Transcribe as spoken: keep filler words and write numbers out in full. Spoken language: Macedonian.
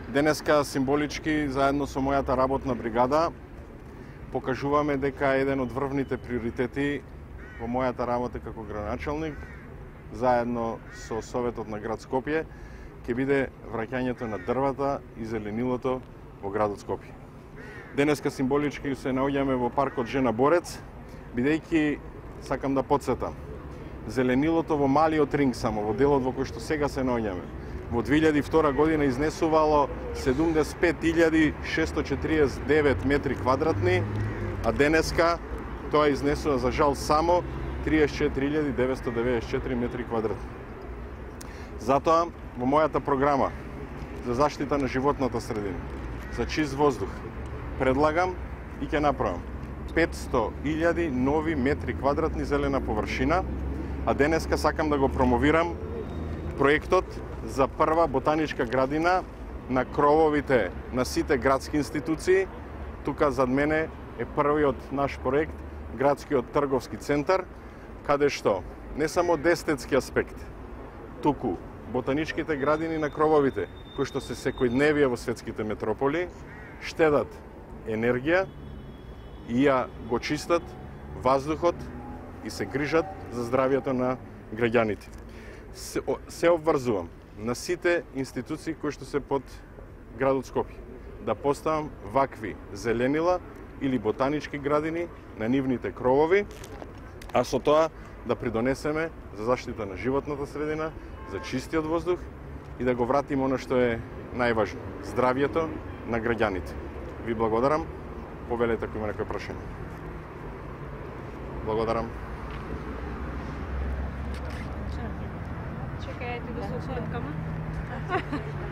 Денеска символички заедно со мојата работна бригада покажуваме дека еден од врвните приоритети во мојата работа како градоначалник, заедно со Советот на град Скопје, ќе биде враќањето на дрвата и зеленилото во градот Скопје. Денеска символички се наоѓаме во паркот Жена Борец, бидејќи сакам да потсетам, зеленилото во малиот ринг само, во делот во кој што сега се наоѓаме, во две илјади и втора година изнесувало седумдесет и пет илјади шестоста четиридесет и девет метри квадратни, а денеска тоа изнесува за жал само триесет и четири илјади деветстотини деветдесет и четири метри квадратни. Затоа, во мојата програма за заштита на животната средина, за чист воздух, предлагам и ќе направам петсто илјади нови метри квадратни зелена површина, а денеска сакам да го промовирам проектот за прва ботаничка градина на крововите на сите градски институции. Тука зад мене е првиот наш проект, градскиот трговски центар, каде што не само од естетски аспект, туку ботаничките градини на крововите, кои што се секојдневие во светските метрополи, штедат енергија и ја го чистат ваздухот и се грижат за здравието на граѓаните. Се, се обврзувам на сите институции кои што се под градот Скопје да поставам вакви зеленила или ботанички градини на нивните кровови, а со тоа да придонесеме за заштита на животната средина, за чистиот воздух и да го вратиме оно што е најважно, здравието на граѓаните. Ви благодарам. Повелете ако има некој прашање. Благодарам. Чекајте да се отворат кама.